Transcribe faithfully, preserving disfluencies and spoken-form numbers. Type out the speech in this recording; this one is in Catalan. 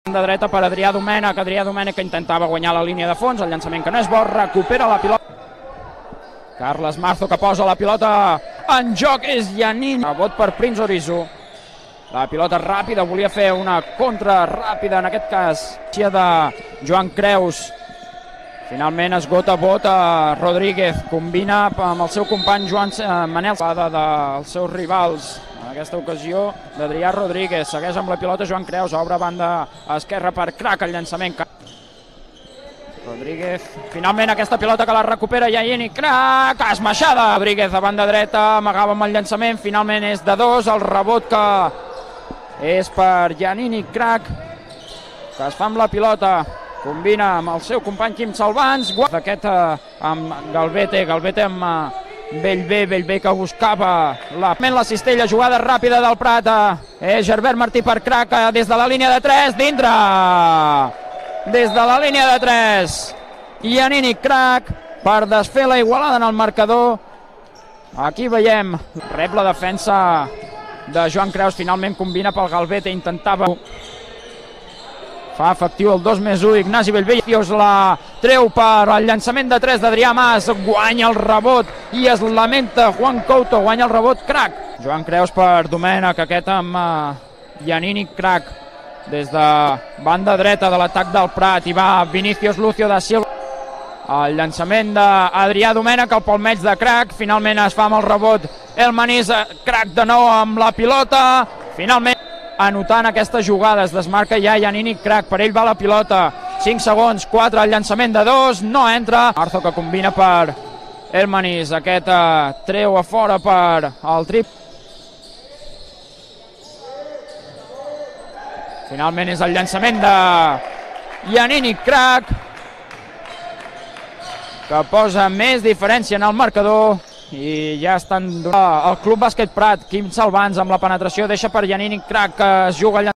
De dreta per Adrià Domènech, Adrià Domènech que intentava guanyar la línia de fons, el llançament que no és bo, recupera la pilota. Carles Marzo que posa la pilota en joc, és Janini. Rebot per Prince Orizu. La pilota ràpida, volia fer una contra ràpida, en aquest cas, de Joan Creus. Finalment esgota Bota Rodríguez, combina amb el seu company Joan Manel, dels seus rivals. En aquesta ocasió d'Adrià Rodríguez, segueix amb la pilota Joan Creus, obre banda esquerra per Crac, el llançament. Rodríguez, finalment aquesta pilota que la recupera Janini, Crac, esmaixada. Rodríguez a banda dreta, amagava amb el llançament, finalment és de dos, el rebot que és per Janini, Crac, que es fa amb la pilota. Combina amb el seu company Quim Salvans, d'aquest amb Galvete, Galvete amb Bellbé, Bellbé que buscava la, la cistella, jugada ràpida del Prat, és Gerbert Martí per Crac, des de la línia de tres, dintre, des de la línia de tres, Janini, Crac, per desfer la igualada en el marcador. Aquí veiem, rep la defensa de Joan Creus, finalment combina pel Galvete, intentava... Fa efectiu el dos més u, Ignasi Bellbé, la treu per el llançament de tres d'Adrià Mas, guanya el rebot i es lamenta Juan Couto, guanya el rebot Crac. Joan Creus per Domènech, aquest amb Janini, Crac, des de banda dreta de l'atac del Prat, i va Vinicius Lucio da Silva. El llançament d'Adrià Domènech, el palmeig de Crac, finalment es fa amb el rebot Elmanís, Crac de nou amb la pilota, finalment anotant aquestes jugades, desmarca ja Janini, Crac, per ell va la pilota, cinc segons, quatre, el llançament de dos, no entra. Marzo que combina per Elmanís, aquest uh, treu a fora per el trip. Finalment és el llançament de Janini, Crac, que posa més diferència en el marcador. I ja estan donant el Club Bàsquet Prat, Quim Salvans amb la penetració, deixa per Janini, Crac, que es juga el